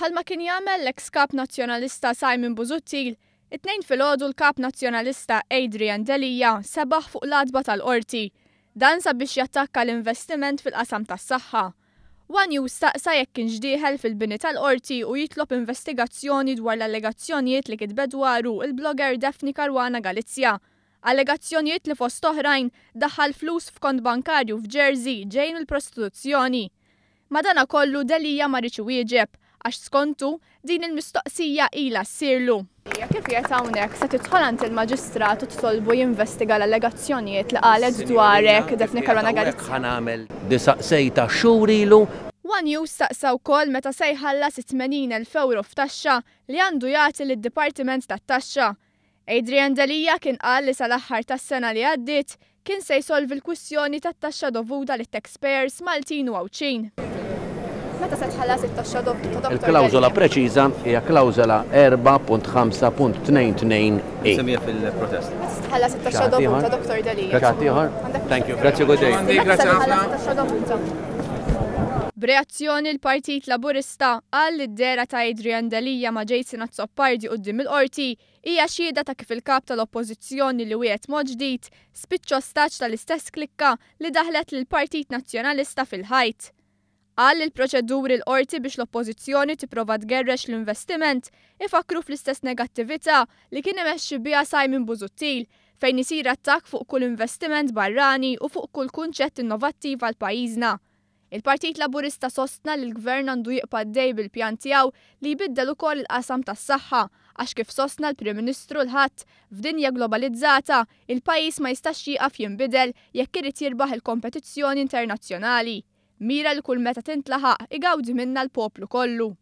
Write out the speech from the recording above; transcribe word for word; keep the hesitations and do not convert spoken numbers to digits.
Bħalma kien jagħmel l-eks kap Nazzjonalista Simon Busuttil, it-Tnejn filgħodu l-Kap Nazzjonalista Adrian Delia sebaħ fuq l-għatba tal-qorti. Dan sabiex jattakka l-investiment fil-qasam tas-saħħa. One News staqsa jekk kienx dieħel fil-bini tal-qorti u jitlob investigazzjoni dwar l-allegazzjonijiet li kitbet dwaru il-blogger Daphne Caruana Galizia. Allegazzjonijiet li fost oħrajn daħal flus f'kont bankarju f'Jersey ġejn mill-prostituzzjoni. Madana kollu Delia ma riedx iwieġeb għax skontu din il-mistoqsija ila ssirlu. Kif qiegħed hawnhekk se tidħol għand il-maġistrat u titolbu jinvestiga l-allegazzjonijiet li qalet dwarek Daphne Caruana Galizia? Ħa nagħmel disaqsejta xhur ilu. One News staqsa wkoll meta se jħallas tmenin elf euro f'taxxa li għandu jagħti lid-Dipartiment tat-Taxxa. Adrian Delia kien qal li sal-aħħar tas-sena li għaddiet kien se jsolvi l-kwistjoni tat-taxxa dovuta lit-taxpayers Maltin u Għawdxin. Meta se tħallas it-taxxa dovuta, Doktor Il-klawżola preċiża hija klawżola erbgħa punt ħamsa punt tnejn tnejn E. Semmija fil-protest. Meta se tħallas it-taxxa dovuta, Doktor Delia? Xi ħadd ieħor? Thank you. Grazzi, good day. Meta se tħallas it-taxxa dovuta? B'reazzjoni, l-Partit Laburista qal li d-dehra ta' Adrian Delia ma' Jason Azzopardi quddiem il-qorti hija xhieda ta' kif il-kap tal-Oppożizzjoni li wiegħed mod ġdid spiċċa ostaġġ tal-istess klikka li daħlet lill-Partit Nazzjonalista fil-ħajt. Qal li l-proċeduri l-qorti biex l-Oppożizzjoni tipprova tgerrex l-investiment ifakru fl-istess negattività li kien imexxi biha Simon Busuttil, fejn isir attakk fuq kull investiment barrani u fuq kull kunċett innovattiv għal pajjiżna. Il-Partit Laburista sostna li l-Gvern għandu jibqa' għaddej bil-pjan tiegħu li jbiddel ukoll il-qasam tas-saħħa, għax kif sostna l-Prim Ministru l-Ħadd, f'dinja globalizzata il-pajjiż ma jistax jieqaf jinbidel jekk irid jirbaħ il-kompetizzjoni internazzjonali. Mira li kull meta tintlaħaq igawdi minna l-poplu kollu.